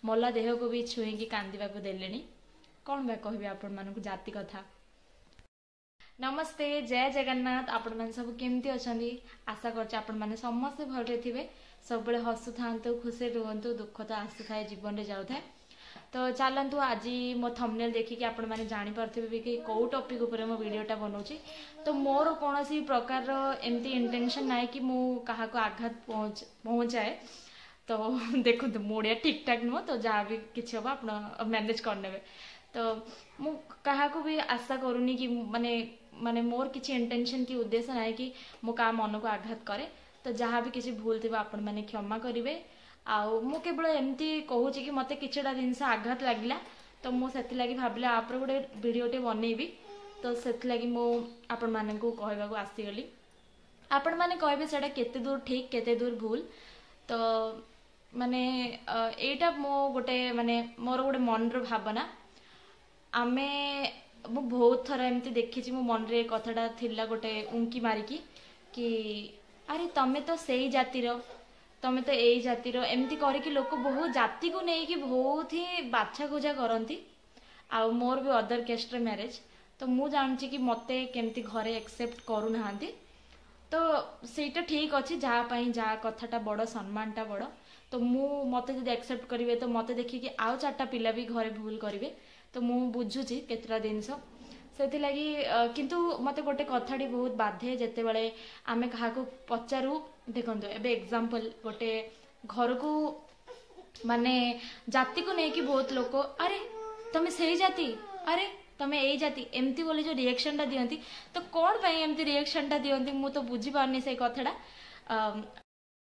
ମଲା ଦେହକୁ ବି ଛୁଇଁକି କାନ୍ଦିବାକୁ ଦେଲେଣି। କ'ଣ ବା କହିବି ଆପଣମାନଙ୍କୁ ଜାତି କଥା। ନମସ୍ତେ, ଜୟ ଜଗନ୍ନାଥ। ଆପଣମାନେ ସବୁ କେମିତି ଅଛନ୍ତି? ଆଶା କରୁଛି ଆପଣମାନେ ସମସ୍ତେ ଭଲରେ ଥିବେ। ସବୁବେଳେ ହସୁଥାନ୍ତୁ, ଖୁସିରେ ରୁହନ୍ତୁ। ଦୁଃଖ ତ ଆସୁଥାଏ, ଜୀବନରେ ଯାଉଥାଏ। ତ ଚାଲନ୍ତୁ, ଆଜି ମୋ ଥମ୍ବନେଲ୍ ଦେଖିକି ଆପଣମାନେ ଜାଣିପାରୁଥିବେ ବି କି କେଉଁ ଟପିକ୍ ଉପରେ ମୁଁ ଭିଡ଼ିଓଟା ବନାଉଛି। ତ ମୋର କୌଣସି ପ୍ରକାରର ଏମିତି ଇଣ୍ଟେନସନ୍ ନାହିଁ କି ମୁଁ କାହାକୁ ଆଘାତ ପହଞ୍ଚାଏ। ତ ଦେଖନ୍ତୁ, ମୁଁ ଓଡ଼ିଆ ଠିକ୍ ଠାକ୍ ନୁହଁ, ତ ଯାହା ବି କିଛି ହେବ ଆପଣ ମ୍ୟାନେଜ୍ କରିନେବେ। ତ ମୁଁ କାହାକୁ ବି ଆଶା କରୁନି କି ମାନେ ମୋର କିଛି ଇଣ୍ଟେନସନ୍ କି ଉଦ୍ଦେଶ୍ୟ ନାହିଁ କି ମୁଁ କାହା ମନକୁ ଆଘାତ କରେ। ତ ଯାହା ବି କିଛି ଭୁଲ ଥିବ, ଆପଣମାନେ କ୍ଷମା କରିବେ। ଆଉ ମୁଁ କେବଳ ଏମିତି କହୁଛି କି ମୋତେ କିଛିଟା ଜିନିଷ ଆଘାତ ଲାଗିଲା, ତ ମୁଁ ସେଥିଲାଗି ଭାବିଲି ଆ ଉପରେ ଗୋଟେ ଭିଡ଼ିଓଟେ ବନେଇବି। ତ ସେଥିଲାଗି ମୁଁ ଆପଣମାନଙ୍କୁ କହିବାକୁ ଆସିଗଲି। ଆପଣମାନେ କହିବେ ସେଇଟା କେତେ ଦୂର ଠିକ୍, କେତେ ଦୂର ଭୁଲ। ତ ମାନେ ଏଇଟା ମୋ ଗୋଟେ ମାନେ ମୋର ଗୋଟେ ମନର ଭାବନା। ମୁଁ ବହୁତ ଥର ଏମିତି ଦେଖିଛି, ମୋ ମନରେ ଏ କଥାଟା ଥିଲା ଗୋଟେ ଉଙ୍କି ମାରିକି କି ଆରେ ତମେ ତ ସେଇ ଜାତିର, ତମେ ତ ଏଇ ଜାତିର, ଏମିତି କରିକି ଲୋକ ବହୁତ ଜାତିକୁ ନେଇକି ବହୁତ ହିଁ ବାଛା ଖୋଜା କରନ୍ତି। ଆଉ ମୋର ବି ଅଦର କାଷ୍ଟରେ ମ୍ୟାରେଜ୍, ତ ମୁଁ ଜାଣୁଛି କି ମୋତେ କେମିତି ଘରେ ଆକ୍ସେପ୍ଟ କରୁନାହାନ୍ତି। ତ ସେଇଟା ଠିକ୍ ଅଛି, ଯାହା ପାଇଁ ଯାହା କଥାଟା ବଡ଼, ସମ୍ମାନଟା ବଡ଼। ତ ମୁଁ ମୋତେ ଯଦି ଆକ୍ସେପ୍ଟ କରିବେ, ତ ମୋତେ ଦେଖିକି ଆଉ ଚାରିଟା ପିଲା ବି ଘରେ ଭୁଲ କରିବେ। ତ ମୁଁ ବୁଝୁଛି କେତେଟା ଜିନିଷ ସେଥିଲାଗି। କିନ୍ତୁ ମୋତେ ଗୋଟେ କଥାଟି ବହୁତ ବାଧେ ଯେତେବେଳେ ଆମେ କାହାକୁ ପଚାରୁ। ଦେଖନ୍ତୁ, ଏବେ ଏକ୍ଜାମ୍ପଲ୍ ଗୋଟେ ଘରକୁ ମାନେ ଜାତିକୁ ନେଇକି ବହୁତ ଲୋକ ଆରେ ତମେ ସେଇ ଜାତି, ଆରେ ତମେ ଏଇ ଜାତି, ଏମିତି ବୋଲି ଯେଉଁ ରିଆକ୍ସନଟା ଦିଅନ୍ତି, ତ କ'ଣ ପାଇଁ ଏମିତି ରିଆକ୍ସନଟା ଦିଅନ୍ତି ମୁଁ ତ ବୁଝିପାରୁନି ସେଇ କଥାଟା।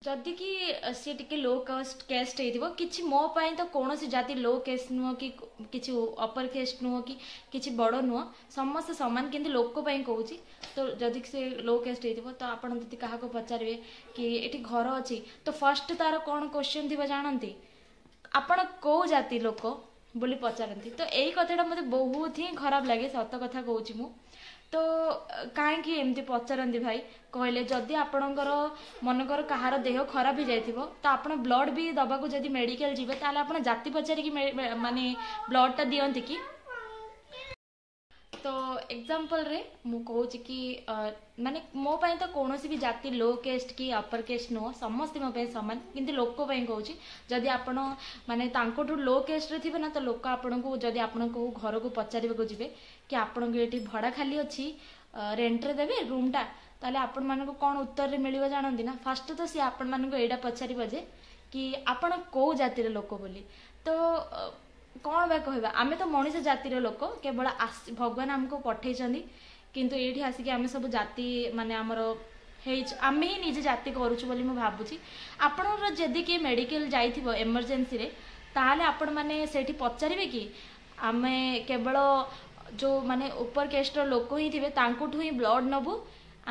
ଯଦି କି ସିଏ ଟିକେ ଲୋ କାଷ୍ଟ ହେଇଥିବ କିଛି, ମୋ ପାଇଁ ତ କୌଣସି ଜାତି ଲୋ କାଷ୍ଟ ନୁହଁ କି କିଛି ଅପର କାଷ୍ଟ ନୁହଁ କି କିଛି ବଡ଼ ନୁହଁ, ସମସ୍ତେ ସମାନ। କିନ୍ତୁ ଲୋକ ପାଇଁ କହୁଛି। ତ ଯଦି ସେ ଲୋ କାଷ୍ଟ ହେଇଥିବ, ତ ଆପଣ ଯଦି କାହାକୁ ପଚାରିବେ କି ଏଠି ଘର ଅଛି, ତ ଫାର୍ଷ୍ଟ ତାର କ'ଣ କ୍ୱେଶ୍ଚନ୍ ଥିବ ଜାଣନ୍ତି? ଆପଣ କେଉଁ ଜାତି ଲୋକ ବୋଲି ପଚାରନ୍ତି। ତ ଏଇ କଥାଟା ମୋତେ ବହୁତ ହିଁ ଖରାପ ଲାଗେ, ସତ କଥା କହୁଛି ମୁଁ। ତ କାହିଁକି ଏମିତି ପଚାରନ୍ତି ଭାଇ କହିଲେ? ଯଦି ଆପଣଙ୍କର ମନେକର କାହାର ଦେହ ଖରାପ ହେଇଯାଇଥିବ, ତ ଆପଣ ବ୍ଲଡ୍ ବି ଦେବାକୁ ଯଦି ମେଡ଼ିକାଲ ଯିବେ, ତାହେଲେ ଆପଣ ଜାତି ପଚାରିକି ମାନେ ବ୍ଲଡ୍ଟା ଦିଅନ୍ତି କି? ତ ଏକ୍ଜାମ୍ପଲ୍ରେ ମୁଁ କହୁଛି କି ମାନେ ମୋ ପାଇଁ ତ କୌଣସି ବି ଜାତି ଲୋ କାଷ୍ଟ କି ଅପର କାଷ୍ଟ ନୁହଁ, ସମସ୍ତେ ମୋ ପାଇଁ ସମାନ। କିନ୍ତୁ ଲୋକ ପାଇଁ କହୁଛି, ଯଦି ଆପଣ ମାନେ ତାଙ୍କଠୁ ଲୋ କାଷ୍ଟରେ ଥିବେ ନା, ତ ଲୋକ ଆପଣଙ୍କୁ ଯଦି ଆପଣ କେଉଁ ଘରକୁ ପଚାରିବାକୁ ଯିବେ କି ଆପଣଙ୍କୁ ଏଠି ଭଡ଼ା ଖାଲି ଅଛି, ରେଣ୍ଟରେ ଦେବେ ରୁମ୍ଟା, ତାହେଲେ ଆପଣମାନଙ୍କୁ କ'ଣ ଉତ୍ତରରେ ମିଳିବ ଜାଣନ୍ତି ନା? ଫାଷ୍ଟ ତ ସିଏ ଆପଣମାନଙ୍କୁ ଏଇଟା ପଚାରିବ ଯେ କି ଆପଣ କେଉଁ ଜାତିର ଲୋକ ବୋଲି। ତ କ'ଣ ବା କହିବା? ଆମେ ତ ମଣିଷ ଜାତିର ଲୋକ, କେବଳ ଭଗବାନ ଆମକୁ ପଠେଇଛନ୍ତି, କିନ୍ତୁ ଏଇଠି ଆସିକି ଆମେ ସବୁ ଜାତି ମାନେ ଆମର ହେଇଛୁ, ଆମେ ହିଁ ନିଜେ ଜାତି କରୁଛୁ ବୋଲି ମୁଁ ଭାବୁଛି। ଆପଣଙ୍କର ଯଦି କିଏ ମେଡ଼ିକାଲ ଯାଇଥିବ ଏମର୍ଜେନ୍ସିରେ, ତାହେଲେ ଆପଣମାନେ ସେଇଠି ପଚାରିବେ କି ଆମେ କେବଳ ଯେଉଁ ମାନେ ଉପର କାଷ୍ଟର ଲୋକ ହିଁ ଥିବେ ତାଙ୍କଠୁ ହିଁ ବ୍ଲଡ଼ ନେବୁ,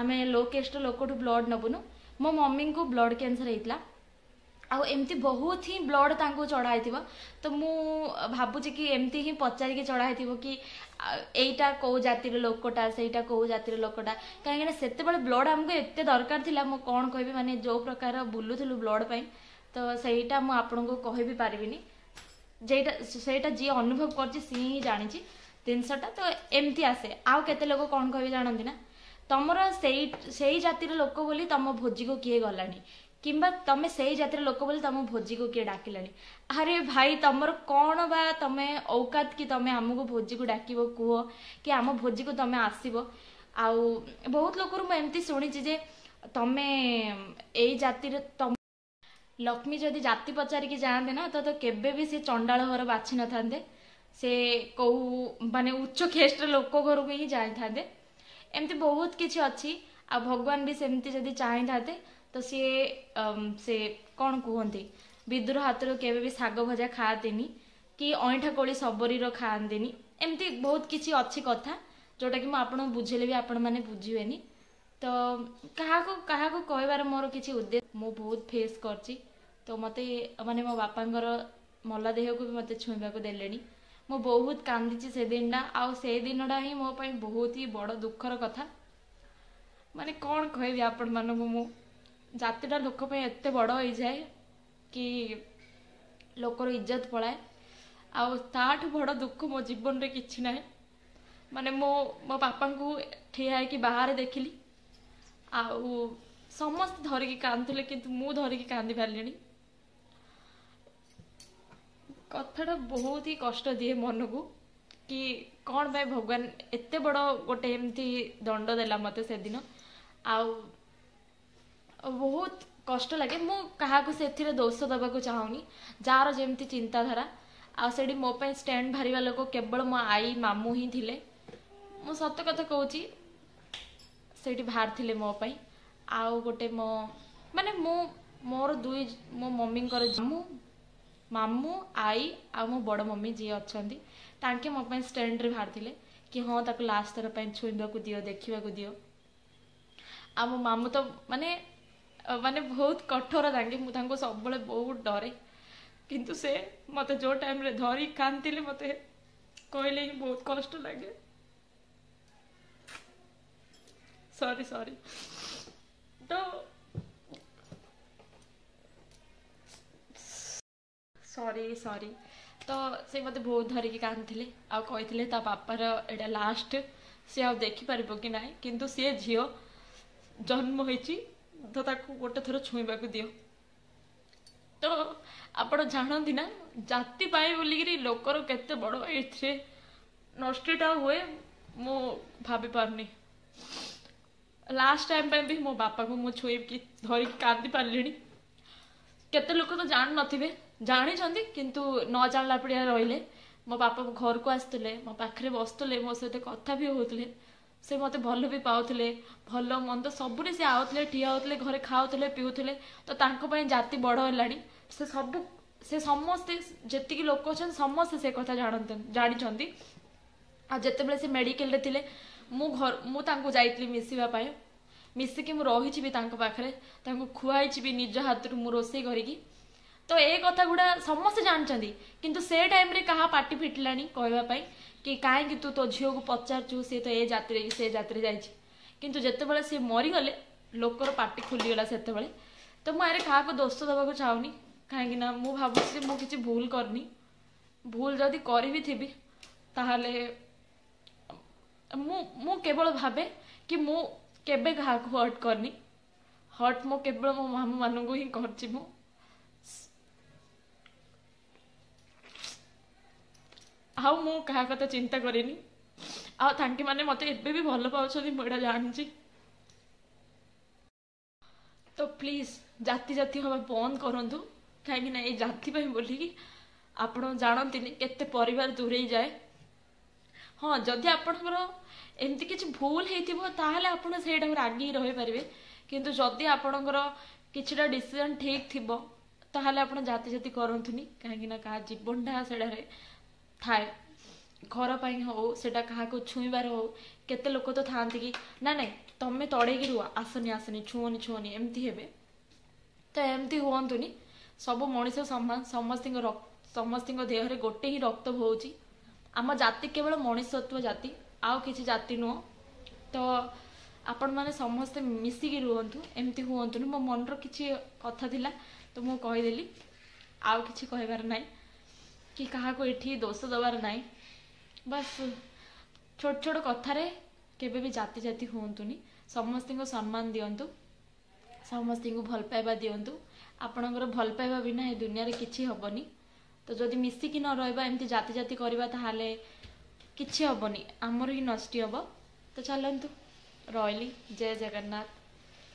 ଆମେ ଲୋ କାଷ୍ଟର ଲୋକଠୁ ବ୍ଲଡ଼ ନେବୁନୁ? ମୋ ମମିଙ୍କୁ ବ୍ଲଡ଼ କ୍ୟାନ୍ସର ହେଇଥିଲା ଆଉ ଏମିତି ବହୁତ ହିଁ ବ୍ଲଡ଼ ତାଙ୍କୁ ଚଢ଼ା ହେଇଥିବ। ତ ମୁଁ ଭାବୁଛି କି ଏମିତି ହିଁ ପଚାରିକି ଚଢ଼ା ହେଇଥିବ କି ଏଇଟା କେଉଁ ଜାତିର ଲୋକଟା, ସେଇଟା କେଉଁ ଜାତିର ଲୋକଟା। କାହିଁକିନା ସେତେବେଳେ ବ୍ଲଡ଼ ଆମକୁ ଏତେ ଦରକାର ଥିଲା, ମୁଁ କ'ଣ କହିବି, ମାନେ ଯେଉଁ ପ୍ରକାର ବୁଲୁଥିଲୁ ବ୍ଲଡ଼ ପାଇଁ, ତ ସେଇଟା ମୁଁ ଆପଣଙ୍କୁ କହିବି ପାରିବିନି। ଯେଇଟା ସେଇଟା ଯିଏ ଅନୁଭବ କରିଛି ସିଏ ହିଁ ଜାଣିଛି ଜିନିଷଟା। ତ ଏମିତି ଆସେ। ଆଉ କେତେ ଲୋକ କ'ଣ କହିବେ ଜାଣନ୍ତି ନା? ତମର ସେଇ ଜାତିର ଲୋକ ବୋଲି ତମ ଭୋଜିକୁ କିଏ ଗଲାନି, କିମ୍ବା ତମେ ସେଇ ଜାତିର ଲୋକ ବୋଲି ତମ ଭୋଜିକୁ କିଏ ଡାକିଲାନି। ଆରେ ଭାଇ, ତମର କ'ଣ ବା ତମେ ଔକାତ କି ତମେ ଆମକୁ ଭୋଜିକୁ ଡାକିବ କୁହ, କି ଆମ ଭୋଜିକୁ ତମେ ଆସିବ? ଆଉ ବହୁତ ଲୋକରୁ ମୁଁ ଏମିତି ଶୁଣିଛି ଯେ ତମେ ଏଇ ଜାତିର। ତମ ଲକ୍ଷ୍ମୀ ଯଦି ଜାତି ପଚାରିକି ଯାଆନ୍ତେ ନା, ତ କେବେ ବି ସେ ଚଣ୍ଡାଳ ଘର ବାଛି ନଥାନ୍ତେ, ସେ କୋଉ ମାନେ ଉଚ୍ଚ କାଷ୍ଟର ଲୋକ ଘରକୁ ହିଁ ଯାଇଥାନ୍ତେ। ଏମିତି ବହୁତ କିଛି ଅଛି। ଆଉ ଭଗବାନ ବି ସେମିତି ଯଦି ଚାହିଁଥାନ୍ତେ, ତ ସିଏ ସେ କ'ଣ କୁହନ୍ତି, ବିଦୁର ହାତରୁ କେବେ ବି ଶାଗ ଭଜା ଖାଆନ୍ତିନି କି ଅଇଁଠା କୋଳି ଶବରୀର ଖାଆନ୍ତିନି। ଏମିତି ବହୁତ କିଛି ଅଛି କଥା, ଯେଉଁଟାକି ମୁଁ ଆପଣଙ୍କୁ ବୁଝେଇଲେ ବି ଆପଣମାନେ ବୁଝିବେନି। ତ କାହାକୁ କାହାକୁ କହିବାର ମୋର କିଛି ଉଦ୍ଦେଶ୍ୟ, ମୁଁ ବହୁତ ଫେସ୍ କରିଛି। ତ ମୋତେ ମାନେ ମୋ ବାପାଙ୍କର ମଲା ଦେହକୁ ବି ମୋତେ ଛୁଇଁବାକୁ ଦେଲେନି। ମୁଁ ବହୁତ କାନ୍ଦିଛି ସେ ଦିନଟା, ଆଉ ସେଇ ଦିନଟା ହିଁ ମୋ ପାଇଁ ବହୁତ ହି ବଡ଼ ଦୁଃଖର କଥା। ମାନେ କ'ଣ କହିବି ଆପଣମାନଙ୍କୁ ମୁଁ, ଜାତିଟା ଲୋକ ପାଇଁ ଏତେ ବଡ଼ ହେଇଯାଏ କି ଲୋକର ଇଜ୍ଜତ ପଳାଏ। ଆଉ ତାଠୁ ବଡ଼ ଦୁଃଖ ମୋ ଜୀବନରେ କିଛି ନାହିଁ। ମାନେ ମୁଁ ମୋ ବାପାଙ୍କୁ ଠିଆ ହେଇକି ବାହାରେ ଦେଖିଲି, ଆଉ ସମସ୍ତେ ଧରିକି କାନ୍ଦୁଥିଲେ, କିନ୍ତୁ ମୁଁ ଧରିକି କାନ୍ଦି ପାରିଲିନି। କଥାଟା ବହୁତ ହି କଷ୍ଟ ଦିଏ ମନକୁ କି କ'ଣ ପାଇଁ ଭଗବାନ ଏତେ ବଡ଼ ଗୋଟେ ଏମିତି ଦଣ୍ଡ ଦେଲା ମୋତେ ସେଦିନ। ଆଉ ବହୁତ କଷ୍ଟ ଲାଗେ। ମୁଁ କାହାକୁ ସେଥିରେ ଦୋଷ ଦେବାକୁ ଚାହୁଁନି, ଯାହାର ଯେମିତି ଚିନ୍ତାଧାରା। ଆଉ ସେଇଠି ମୋ ପାଇଁ ଷ୍ଟାଣ୍ଡ ବାହାରିବା ଲୋକ କେବଳ ମୋ ଆଈ ମାମୁଁ ହିଁ ଥିଲେ। ମୁଁ ସତ କଥା କହୁଛି, ସେଇଠି ବାହାରିଥିଲେ ମୋ ପାଇଁ। ଆଉ ଗୋଟେ ମୋ ମାନେ ମୁଁ ମୋର ଦୁଇ ମୋ ମମିଙ୍କର ମାମୁଁ, ମାମୁଁ, ଆଈ ଆଉ ମୋ ବଡ଼ ମମି ଯିଏ ଅଛନ୍ତି, ତାଙ୍କେ ମୋ ପାଇଁ ଷ୍ଟାଣ୍ଡରେ ବାହାରିଥିଲେ କି ହଁ, ତାକୁ ଲାଷ୍ଟ ଥର ପାଇଁ ଛୁଇଁବାକୁ ଦିଅ, ଦେଖିବାକୁ ଦିଅ। ଆଉ ମୋ ମାମୁଁ ତ ମାନେ ମାନେ ବହୁତ କଠୋର ତାଙ୍କେ, ମୁଁ ତାଙ୍କୁ ସବୁବେଳେ ବହୁତ ଡରେ। କିନ୍ତୁ ସେ ମୋତେ ଯେଉଁ ଟାଇମ୍ରେ ଧରି କାନ୍ଦିଲେ, ମୋତେ କହିଲେ ହିଁ ବହୁତ କଷ୍ଟ ଲାଗେ। ସରି ସରି, ତ ସରି ସରି। ତ ସେ ମୋତେ ବହୁତ ଧରିକି କାନ୍ଦିଥିଲେ ଆଉ କହିଥିଲେ ତା ବାପାର ଏଇଟା ଲାଷ୍ଟ, ସେ ଆଉ ଦେଖିପାରିବ କି ନାହିଁ, କିନ୍ତୁ ସିଏ ଝିଅ ଜନ୍ମ ହେଇଛି ତ ତାକୁ ଗୋଟେ ଥର ଛୁଇଁବାକୁ ଦିଅ। ତ ଆପଣ ଜାଣନ୍ତି ନା, ଜାତି ପାଇଁ ବୋଲିକିରି ଲୋକର କେତେ ବଡ଼ ଏଥିରେ ନଷ୍ଟଟା ହୁଏ, ମୁଁ ଭାବି ପାରୁନି। ଲାଷ୍ଟ ଟାଇମ୍ ପାଇଁ ବି ମୋ ବାପାକୁ ମୁଁ ଛୁଇଁକି ଧରିକି କାନ୍ଦି ପାରିଲିଣି। କେତେ ଲୋକ ତ ଜାଣିନଥିବେ, ଜାଣିଛନ୍ତି କିନ୍ତୁ ନ ଜାଣିଲା ପଡ଼ିଆ ରହିଲେ। ମୋ ବାପା ଘରକୁ ଆସୁଥିଲେ, ମୋ ପାଖରେ ବସୁଥିଲେ, ମୋ ସହିତ କଥା ବି ହେଉଥିଲେ, ସେ ମୋତେ ଭଲ ବି ପାଉଥିଲେ, ଭଲ ମନ୍ଦ ସବୁରେ ସେ ଆଉଥିଲେ, ଠିଆ ହେଉଥିଲେ, ଘରେ ଖାଉଥିଲେ ପିଉଥିଲେ। ତ ତାଙ୍କ ପାଇଁ ଜାତି ବଡ଼ ହେଲାଣି। ସେ ସବୁ ସେ ସମସ୍ତେ ଯେତିକି ଲୋକ ଅଛନ୍ତି ସମସ୍ତେ ସେ କଥା ଜାଣନ୍ତି, ଜାଣିଛନ୍ତି। ଆଉ ଯେତେବେଳେ ସେ ମେଡ଼ିକାଲରେ ଥିଲେ, ମୁଁ ଘର ମୁଁ ତାଙ୍କୁ ଯାଇଥିଲି ମିଶିବା ପାଇଁ, ମିଶିକି ମୁଁ ରହିଛି ବି ତାଙ୍କ ପାଖରେ, ତାଙ୍କୁ ଖୁଆଇଛି ବି ନିଜ ହାତରୁ ମୁଁ ରୋଷେଇ କରିକି। ତ ଏ କଥା ଗୁଡ଼ା ସମସ୍ତେ ଜାଣିଛନ୍ତି, କିନ୍ତୁ ସେ ଟାଇମ୍ରେ କାହା ପାଟି ଫିଟିଲାଣି କହିବା ପାଇଁ କି କାହିଁକି ତୁ ତୋ ଝିଅକୁ ପଚାରୁଛୁ, ସିଏ ତ ଏ ଜାତିରେ କି ସେ ଜାତିରେ ଯାଇଛି। କିନ୍ତୁ ଯେତେବେଳେ ସିଏ ମରିଗଲେ, ଲୋକର ପାଟି ଖୋଲିଗଲା ସେତେବେଳେ। ତ ମୁଁ ଆରେ କାହାକୁ ଦୋଷ ଦେବାକୁ ଚାହୁଁନି, କାହିଁକି ନା ମୁଁ ଭାବୁଛି ଯେ ମୁଁ କିଛି ଭୁଲ କରିନି। ଭୁଲ ଯଦି କରିବି ଥିବି, ତାହେଲେ ମୁଁ କେବଳ ଭାବେ କି ମୁଁ କେବେ କାହାକୁ ହର୍ଟ କରିନି। ହର୍ଟ ମୁଁ କେବଳ ମୋ ମାମୁଁମାନଙ୍କୁ ହିଁ କରିଛି। ମୁଁ ଆଉ ମୁଁ କାହା କଥା ଚିନ୍ତା କରିନି। ଆଉ ତାଙ୍କେ ମାନେ ମୋତେ ଏବେ ବି ଭଲ ପାଉଛନ୍ତି, ମୁଁ ଏଇଟା ଜାଣିଛି। ତ ପ୍ଲିଜ୍ ଜାତି ଜାତି ହେବା ବନ୍ଦ କରନ୍ତୁ, କାହିଁକି ନା ଏଇ ଜାତି ପାଇଁ ବୋଲିକି ଆପଣ ଜାଣନ୍ତିନି କେତେ ପରିବାର ଦୂରେଇ ଯାଏ। ହଁ, ଯଦି ଆପଣଙ୍କର ଏମିତି କିଛି ଭୁଲ ହେଇଥିବ, ତାହେଲେ ଆପଣ ସେଇଟାକୁ ରାଗିକି ରହିପାରିବେ। କିନ୍ତୁ ଯଦି ଆପଣଙ୍କର କିଛିଟା ଡିସିଜନ୍ ଠିକ୍ ଥିବ, ତାହେଲେ ଆପଣ ଜାତି ଜାତି କରନ୍ତୁନି, କାହିଁକି ନା କାହା ଜୀବନଟା ସେଟାରେ ଥାଏ। ଘର ପାଇଁ ହଉ, ସେଇଟା କାହାକୁ ଛୁଇଁବାର ହଉ, କେତେ ଲୋକ ତ ଥାଆନ୍ତି କି ନା ନାଇଁ ତମେ ତଡ଼େଇକି ରୁହ, ଆସନି ଆସନି, ଛୁଅନି ଛୁଅନି, ଏମିତି ହେବେ। ତ ଏମିତି ହୁଅନ୍ତୁନି। ସବୁ ମଣିଷ ସମାନ, ସମସ୍ତଙ୍କ ସମସ୍ତଙ୍କ ଦେହରେ ଗୋଟେ ହିଁ ରକ୍ତ ବହୁଛି। ଆମ ଜାତି କେବଳ ମଣିଷତ୍ୱ ଜାତି, ଆଉ କିଛି ଜାତି ନୁହଁ। ତ ଆପଣମାନେ ସମସ୍ତେ ମିଶିକି ରୁହନ୍ତୁ, ଏମିତି ହୁଅନ୍ତୁନି। ମୋ ମନର କିଛି କଥା ଥିଲା ତ ମୁଁ କହିଦେଲି, ଆଉ କିଛି କହିବାର ନାହିଁ କି କାହାକୁ ଏଠି ଦୋଷ ଦେବାର ନାହିଁ। ବାସ୍, ଛୋଟ ଛୋଟ କଥାରେ କେବେ ବି ଜାତି ଜାତି ହୁଅନ୍ତୁନି। ସମସ୍ତଙ୍କୁ ସମ୍ମାନ ଦିଅନ୍ତୁ, ସମସ୍ତଙ୍କୁ ଭଲ ପାଇବା ଦିଅନ୍ତୁ। ଆପଣଙ୍କର ଭଲ ପାଇବା ବିନା ଏ ଦୁନିଆରେ କିଛି ହେବନି। ତ ଯଦି ମିଶିକି ନ ରହିବା, ଏମିତି ଜାତି ଜାତି କରିବା, ତାହେଲେ କିଛି ହେବନି, ଆମର ହିଁ ନଷ୍ଟି ହେବ। ତ ଚାଲନ୍ତୁ, ରହିଲି, ଜୟ ଜଗନ୍ନାଥ।